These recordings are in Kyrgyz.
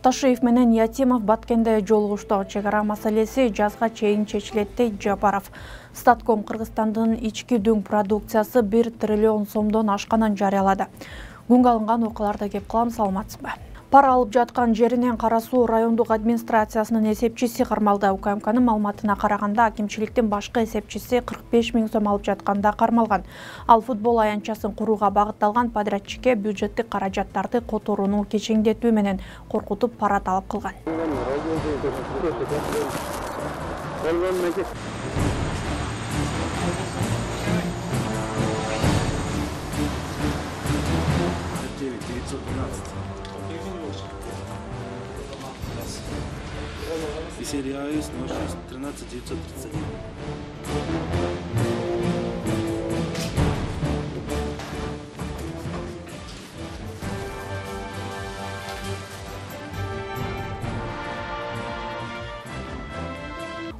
Ташиев менен Ятимов Баткенде жолугушту. Чегара маселеси жазга чейин чечилет дейт Жапаров. Статком Кыргызстандын ички дүң продукциясы 1 триллион сомдон ашканын жарыялады. Күнгө алынган окуяларды кеп кылам, саламатсызбы? Пара алып жаткан жеринен Кара Суу райондук администрациясынын эсепчиси кармалды. УКМКнын маалыматына караганда, акимчиликтин башкы эсепчиси 45 000 сом алып жатканда кармалган. Ал футбол аянтчасын курууга багытталган подрядчикке бюджеттик каражаттарды которууну кечеңдетүү менен коркутуп пара талап кылган. Серия АИС 13 931.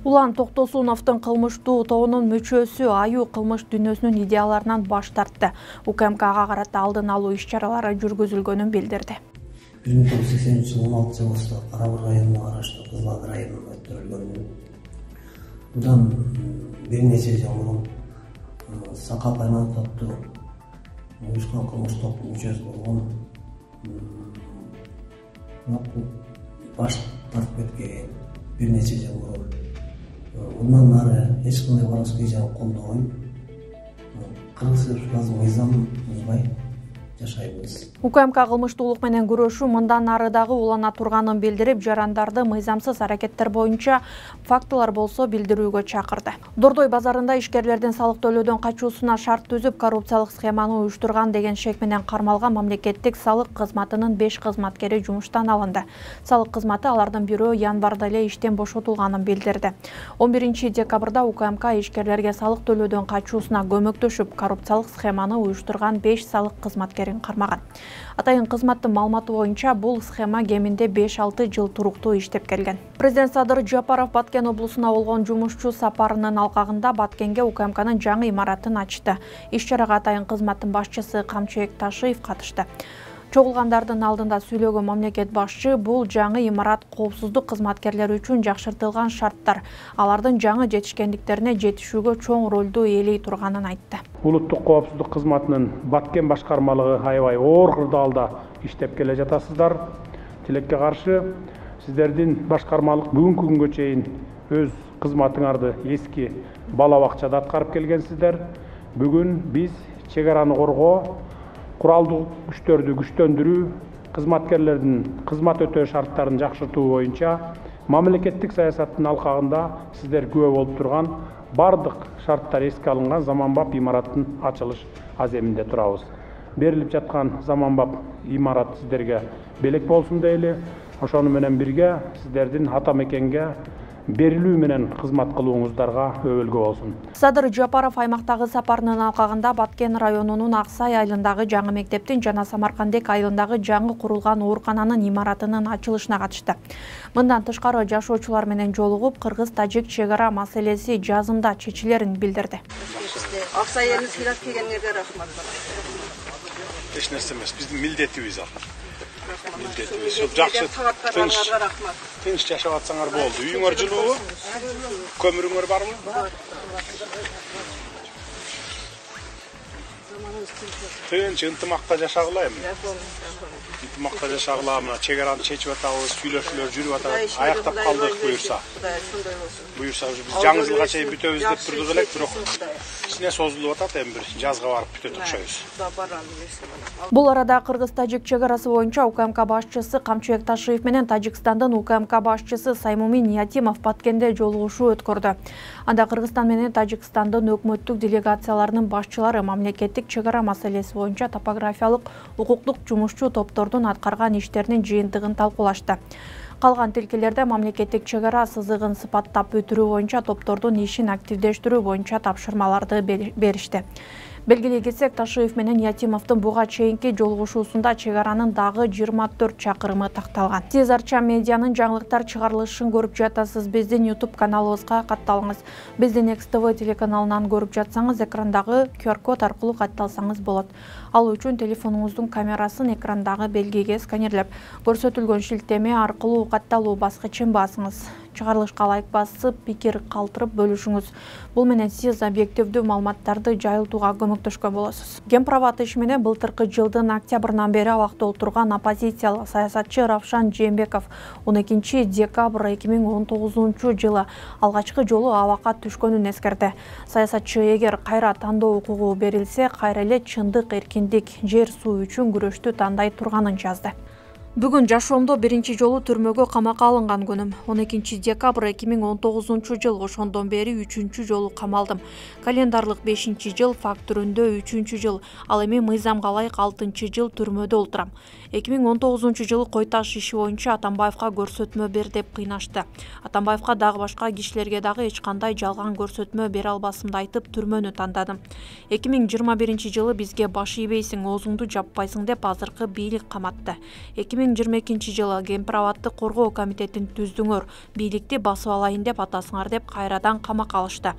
Улан Токтосуновдун кылмыштуу тобунун мүчөсү аюу кылмыш дүйнөсүнүн идеяларынан баш тартты. УКМКга карата алдын алуу иш-чаралары жүргүзүлгөнүн билдирди. 1980 жылы 16 августта Карабыр районуна караштуу Кызылат районунда өткөрүлгөн. Будан бир нече жыл мурун Сакап аймак топту уюшкан кылмыш топтун мүчөсү болгон баш тартып кеткен бир нече жыл мурун. Bundan nары эч кандай воровской жагын колдобой, Кыргыз Республикасынын мыйзамын бузбай жашайбыз. УКМК кылмыштуулук менен күрөшүү мындан ары дагы улана турганын билдирип, жарандарды мыйзамсыз аракеттер боюнча фактылар болсо билдирүүгө чакырды. Дордой базарында ишкерлердин салык төлөөдөн качуусуна шарт түзүп, коррупциялык схеманы уюштурган деген шек менен кармалган мамлекеттик салык кызматынын 5 кызматкери жумуштан алынды. Салык кызматы алардын бирөө январда эле иштен бошотулганын билдирди. 11 декабрда УКМК ишкерлерге салык төлөөдөн качуусуна көмөктөшүп, коррупциялык схеманы уюштурган 5 салык кызматкерин кармаган. Атайын кызматтын маалыматы боюнча бул схема кеминде 5-6 жыл туруктуу иштеп келген. Президент Садыр Жапаров Баткен облусуна болгон жумушчу сапарынын алкагында Баткенге УКМКнын жаңы имаратын ачты. Иш-чарага атайын кызматтын башчысы Камчыбек Ташиев катышты. Чогулгандардын алдында сүйлөгөн мамлекет башчы бул жаңы имарат коопсуздук кызматкерлери үчүн жакшыртылган шарттар, алардын жаңы жетишкендиктерине жетишүүгө чоң ролду ээлей турганын айтты. Улуттук коопсуздук кызматынын Баткен башкармалыгы аябай оор кырдаалда иштеп келе жатасыздар. Тилекке каршы сиздердин башкармалык бүгүнкү күнгө чейин өз кызматыңарды эски бала бакчада аткарып келгенсиздер. Бүгүн биз чек араны коргоо, куралдуу күчтөрдү күчтөндүрүү, кызматкерлердин кызмат өтөө шарттарын жакшыртуу боюнча мамлекеттик саясаттын алкагында сиздер күбө болуп турган бардык шарттар эске алынган заманбап имараттын ачылыш аземинде турабыз. Берилип жаткан заманбап имарат сиздерге белек болсун дейли, ошону менен бирге сиздердин ата мекенге берилүү менен кызмат кылууңуздарга өбөлгө болсун. Садыр Жапаров аймактагы сапарынын алкагында Баткен районунун Аксай айылындагы жаңы мектептин жана Самаркандек айылындагы жаңы курулган оорукананын имаратынын ачылышына катышты. Мындан тышкары жашоочулар менен жолугуп, кыргыз-тажик чек ара маселеси жазында чечилерин билдирди. Аксай элине сыйлап келгениңерге рахмат. Эч нерсе эмес, биздин милдетибиз ал. Тынч жашап атсаңар болду. Үйүңөр жылуубу? Көмүрүңөр барбы? Тынч ынтымакта жашагыла эми. Ынтымакта жашагыла, мына чек араны чечип атабыз, сүйлөшүүлөр жүрүп атат. Аяктап калдык буюрса. Буюрса биз жаңы жылга чейин бүтөбүз деп турдук элек, бирок кичине созулуп атат, эми бир жазга барып бүтөт окшойбуз. Бул арада кыргыз-тажик чек арасы боюнча УКМК башчысы Камчыбек Ташиев менен Тажикстандын УКМК башчысы Саймумин Ятимов Баткенде жолугушуу өткөрдү. Анда Кыргызстан менен Тажикстандын өкмөттүк делегацияларынын башчылары мамлекеттик чек ара маселеси боюнча топографиялык укуктук жумушчу топтордун аткарган иштеринин жыйынтыгын талкуулашты. Калган тилкелерде мамлекеттик чек ара сызыгын сыпаттап бүтүрүү боюнча топтордун ишин активдештирүү боюнча тапшырмаларды беришти. Белгилей кетсек, Ташиев менен Ятимовдун буга чейинки жолугушуусунда чек аранын дагы 24 чакырымы такталган. Сиз Арча медианын жаңылыктар чыгарылышын көрүп жатасыз. Биздин YouTube каналыбызга катталыңыз. Биздин XTV телеканалынан көрүп жатсаңыз, экрандагы QR-код аркылуу катталсаңыз болот. Ал үчүн телефонуңуздун камерасын экрандагы белгиге сканерлеп, көрсөтүлгөн шилтеме аркылуу катталуу баскычын басыңыз. Чыгарылышка лайк басып, пикир калтырып бөлүшүңүз. Бул менен сиз объективдүү маалыматтарды жайылтууга көмөктөшкөн болосуз. Гемправат иши менен былтыркы жылдын октябрынан бери абакта отурган оппозициялык саясатчы Равшан Жээнбеков 12 декабрь 2019 жылы алгачкы жолу абакка түшкөнүн эскерди. Саясатчы эгер кайра тандоо укугу берилсе, кайра эле чындык, эркиндик, жер суу үчүн күрөштү тандай турганын жазды. Бүгүн жашоомдо биринчи жолу түрмөгө камакка алынган күнүм. 12 декабрь 2019 жыл, ошондон бери 3-чү жолу камалдым. Календарлык 5-чи жыл, факт түрүндө 3-чү жыл, ал эми мыйзамга ылайык 6-чы жыл түрмөдө олтурам. 2019 жылы Кой Таш иши боюнча Атамбаевка көрсөтмө бер деп кыйнашты. Атамбаевка дагы башка кишилерге дагы эч кандай жалган көрсөтмө бере албасымды айтып, түрмөнү тандадым. 2021 жылы бизге баш ийбейсиң, оозуңду жаппайсың деп азыркы бийлик каматты. 2022 жылы Гемправатты коргоо комитетин түздүңөр, бийликти басып алайын деп атасыңар деп кайрадан камакка алышты.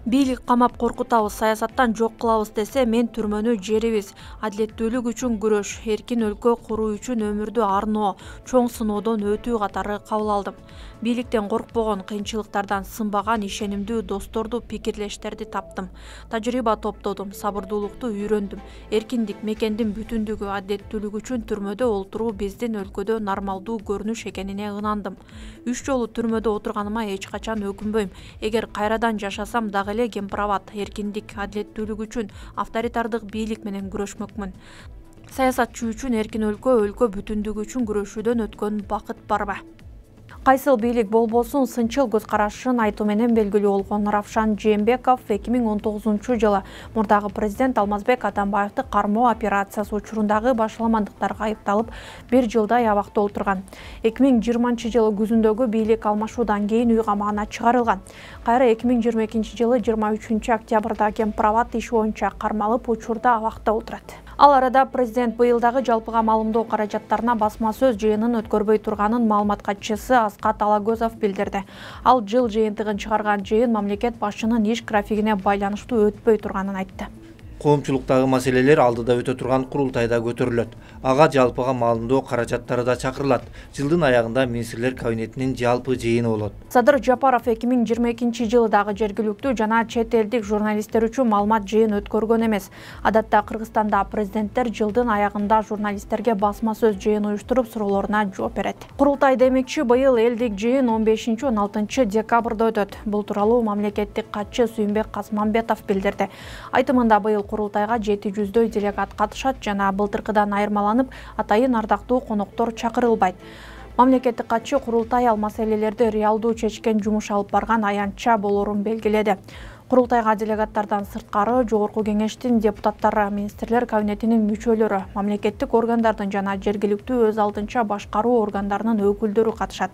Бийлик камап коркутабыз, саясаттан жок кылабыз десе, мен түрмөнү жерибиз, адилеттүүлүк үчүн күрөш, эркин өлкө куруу үчүн өмүрдү арноо, чоң сыноодон өтүү катары кабыл алдым. Бийликтен коркпогон, кыйынчылыктардан сынбаган ишенимдүү досторду, пикирлештерди таптым. Тажрыйба топтодум, сабырдуулукту үйрөндүм. Эркиндик, мекендин бүтүндүгү, адилеттүүлүк үчүн түрмөдө олтуруу биздин өлкөдө нормалдуу көрүнүш экенине ынандым. 3 жолу түрмөдө отурганыма эч качан өкүнбөйм. Эгер кайрадан жашасам дагы эле Гемправат, эркиндик, адилеттүүлүк үчүн, авторитардык бийлик менен күрөшмөкмүн. Саясатчы үчүн эркин өлкө, өлкө бүтүндүгү үчүн күрөшүүдөн өткөн бакыт барбы? Кайсыл бийлик болбосун сынчыл көз карашын айтуу менен белгилүү болгон Равшан Жээнбеков 2019 жылы мурдагы президент Алмазбек Атамбаевди кармоо операциясы учурундагы башаламандыктарга айыпталып 1 жылдай абакта олтурган. 2020 жылы күзүндөгү бийлик алмашуудан кийин үй камагына чыгарылган. Кайра 2022 жылы 23 октябрда Гемправат иши боюнча кармалып, учурда абакта отурат. Ал арада президент быйылдагы жалпыга маалымдоо каражаттарына басма сөз жыйынын өткөрбөй турганын маалымат катчысы Аскат Алагөзов билдирди. Ал жыл жыйынтыгын чыгарган жыйын мамлекет башчынын иш графигине байланыштуу өтпөй турганын айтты. Коомчулуктагы маселелер алдыда өтө турган курултайда көтөрүлөт. Ага жалпыга маалымдоо каражаттары да чакырылат. Жылдын аягында министрлер кабинетинин жалпы жыйыны болот. Садыр Жапаров 2022 жылдагы жергиликтүү жана чет элдик журналисттер үчүн маалымат жыйын өткөргөн эмес. Адатта Кыргызстанда президенттер жылдын аягында журналисттерге басма сөз жыйын уюштуруп, суроолоруна жооп берет. Курултай демекчи, быйыл элдик жыйын 15-16 декабрда өтөт. Бул тууралуу мамлекеттик катчы Сүйүнбек Касмамбетов билдирди. Айтымында быйыл курултайга 700дөй делегат катышат жана былтыркыдан айырмаланып, атайын ардактуу коноктор чакырылбайт. Мамлекеттик катчы курултай ал маселелерди реалдуу чечкен жумуш алып барган аянтча болорун белгиледи. Курултайга делегаттардан сырткары Жогорку кеңештин депутаттары, министрлер кабинетинин мүчөлөрү, мамлекеттик органдардын жана жергиликтүү өз алдынча башкаруу органдарынын өкүлдөрү катышат.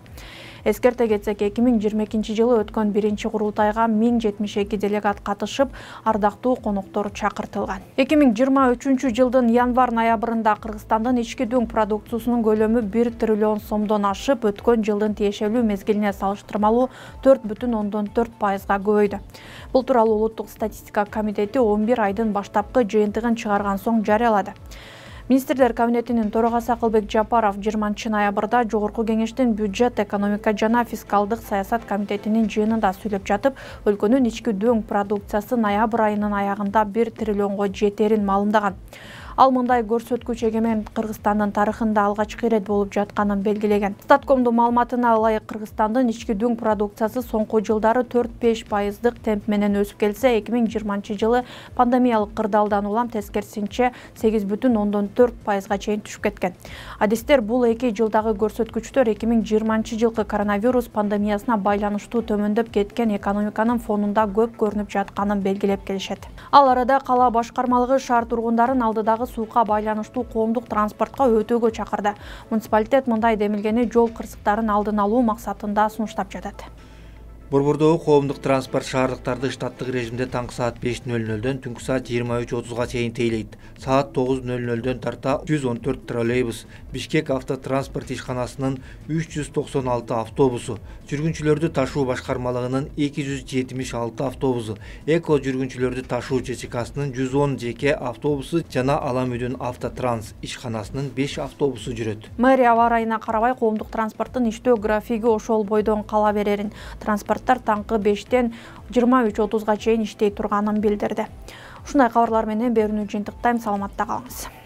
Эскерте кетсек, 2022 жылы өткөн биринчи курултайга 1072 делегат катышып, ардактуу коноктор чакыртылган. 2023 жылдын январь-ноябрында Кыргызстандын ички дүң продукциясынын көлөмү 1 триллион сомдон ашып, өткөн жылдын тиешелүү мезгилине салыштырмалуу 4,4%га көбөйдү. Бул тууралуу Улуттук статистика комитети 11 айдын баштапкы жыйынтыгын чыгарган соң жарыялады. Министрлер кабинетинин төрагасы Акылбек Жапаров 20 ноябрда Жогорку кеңештин бюджет, экономика жана фискалдык саясат комитетинин жыйынында сүйлөп жатып, өлкөнүн ички дүң продукциясы ноябрь айынын аягында 1 триллионго жетерин маалымдаган. Ал мындай көрсөткүч эгемен Кыргызстандын тарыхында алгачкы ирет болуп жатканын белгилеген. Статкомдун маалыматына ылайык, Кыргызстандын ички дүң продукциясы соңку жылдары 4-5% темп менен өсүп келсе, 2020 жылы пандемиялык кырдаалдан улам тескерисинче 8,4%га чейин түшүп кеткен. Адистер бул 2 жылдагы көрсөткүчтөр 2020 жылкы коронавирус пандемиясына байланыштуу төмөндөп кеткен экономиканын фонунда көп көрүнүп жатканын белгилеп келишет. Ал арада кала башкармалыгы шаар тургундарын алдыдагы суука байланыштуу коомдук транспортко өтүүгө чакырды. Муниципалитет мындай демилгени жол кырсыктарын алдын алуу максатында сунуштап жатат. Борбордогу коомдук транспорт шаардыктарды штаттык режимде таңкы саат 5:00-дөн түнкү саат 23:30-га чейин тейлейт. Саат 9:00-дөн тарта 114 троллейбус, Бишкек автотранспорт ишканасынын 396 автобусу, жүргүнчүлөрдү ташуу башкармалыгынын 276 автобусу, Эко жүргүнчүлөрдү ташуу ЧЧКсынын 110 жеке автобусу жана Алам үйдүн Автотранс ишканасынын 5 автобусу жүрөт. Мэрия аба ырайына карабай коомдук транспорттун иштөө графиги ошол бойдон кала берерин, транспорттор таңкы 5-тен 23:30-га чейин иштей турганын билдирди. Ушундай кабарлар менен берүүнү жыйынтыктайм, саламатта калыңыз.